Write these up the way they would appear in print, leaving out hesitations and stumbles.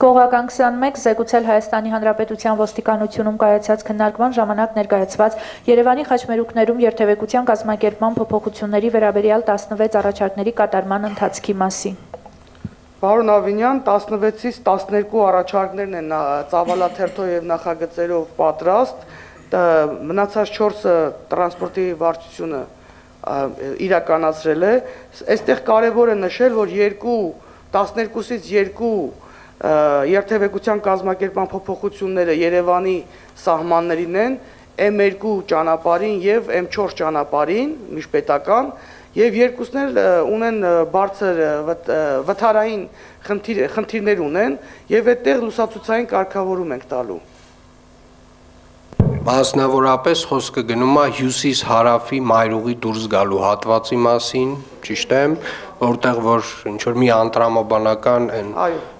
Հսկողական 21 զեկուցել Հայաստանի Հանրապետության ոստիկանությունում կայացած քննարկման ժամանակ ներկայացված Երևանի խաչմերուկներում երթևեկության կազմակերպման փոփոխությունների վերաբերյալ 16 առաջարկների կատարման ընթացքի մասին։ Պարոն Ավինյան, 16-ից 12 առաջարկներն են ծավալաթերթով եւ նախագծերով պատրաստ, մնացած 4-ը տրանսպորտի վարչությունը իրականացրել է։ Այստեղ կարևոր է նշել, որ 12-ից 2 երթևեկության կազմակերպման փոփոխությունները Երևանի սահմաններին են, M2 ճանապարհին եւ M4 ճանապարհին, միջպետական, եւ երկուսն էլ ունեն բարձր վթարային խնդիրներ ունեն եւ այդտեղ լուսացուցային կարգավորում ենք տալու։ Մասնավորապես խոսքը գնում է հյուսիս-հարավի մայրուղի դուրս գալու հատվածի մասին, ճիշտ է, որտեղ որ ինչ-որ մի անտրամաբանական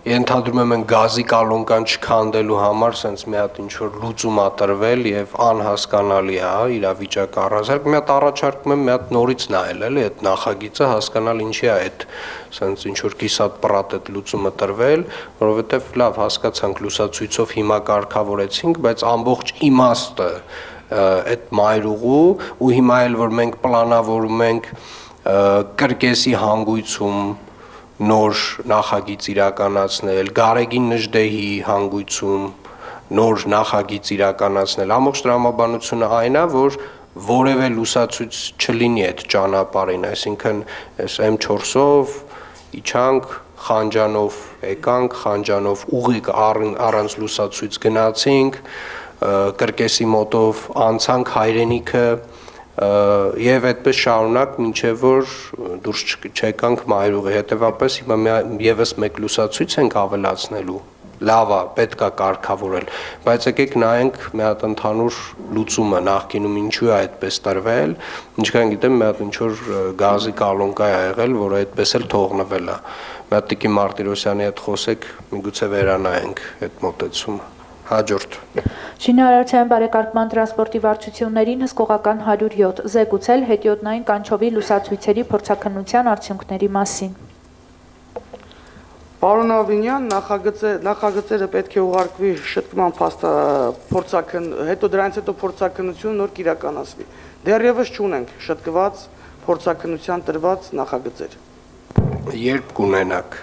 ենթադրում եմ գազի կալոնկան չքանդելու համար սենց մի հատ ինչ-որ լուծում ա տրվել եւ անհասկանալի է իրավիճակը առանձնարկ, մի հատ առաջարկում եմ մի հատ նորից նայել էլի այդ նախագիծը հասկանալ ինչի է այդ սենց ինչ-որ կիսատ պրատ այդ լուծումը տրվել, որովհետեւ լավ հասկացանք լուսացույցով հիմա կարգավորեցինք, բայց ամբողջ իմաստը այդ մայրուղու ու հիմա էլ որ մենք պլանավորում ենք կրկեսի հանգույցում նոր նախագիծ իրականացնել, Գարեգին Նժդեհի հանգույցում նոր նախագիծ իրականացնել, ամբողջ տրամաբանությունը այն է, որ որևէ լուսացույց չլինի այդ ճանապարհին, այսինքն այս M4-ով իջանք, Խանջանով եկանք, Խանջանով ուղիղ առանց լուսացույց գնացինք, կրկեսի մոտով անցանք Հայրենիքը եւ այդպես շարունակ մինչեւ որ դուրս չեկանք մայրուղի, հետեւաբար հիմա եւս մեկ լուսացույց ենք ավելացնելու, լավ է, պետք է կարգավորել, բայց եկեք նայենք մի հատ ընդհանուր լուծումը նախկինում ինչու է այդպես տրվել, ինչքան գիտեմ մի հատ ինչ-որ գազի կալոնկա է եղել, որը այդպես էլ թողնվել է, մի հատ Տիկին Մարտիրոսյանի հետ խոսեք, միգուցե վերանայենք այդ մոտեցումը։ Հաջորդ։ Շինարարության բարեկարգման տրանսպորտի վարչություններին հսկողական 107 զեկուցել հետիոտնային կանչովի լուսացույցերի փորձաքննության արդյունքների մասին։ Պարոն Ավինյան, նախագծերը պետք է ուղարկվի շտկման հետո դրանից հետո փորձաքննությունը նոր կիրականացվի։ Դեռևս չունենք շտկված փորձաքննության տրված նախագծեր։ Երբ կունենաք։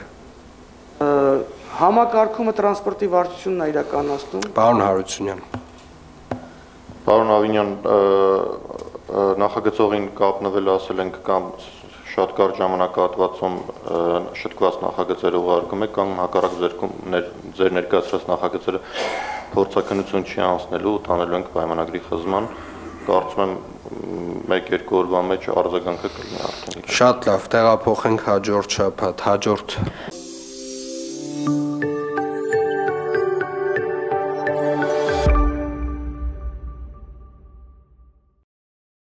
Համակարգումը տրանսպորտի վարչությունն է իրականացնում։ Պարոն Հարությունյան։ Պարոն Ավինյան, նախագծողին կապնվել ասել ենք կամ շատ կարճ ժամանակահատվածում շտկված նախագծերը ուղարկում եք կամ հակառակ ձեր ներկայացրած նախագծերը փորձաքննություն չի անցնելու, տանելու ենք պայմանագրի խզման, կարծում եմ 1-2 օրվա մեջ արձագանքը կլինի արդեն։ Շատ լավ, տեղափոխենք հաջորդ շաբաթ, հաջորդ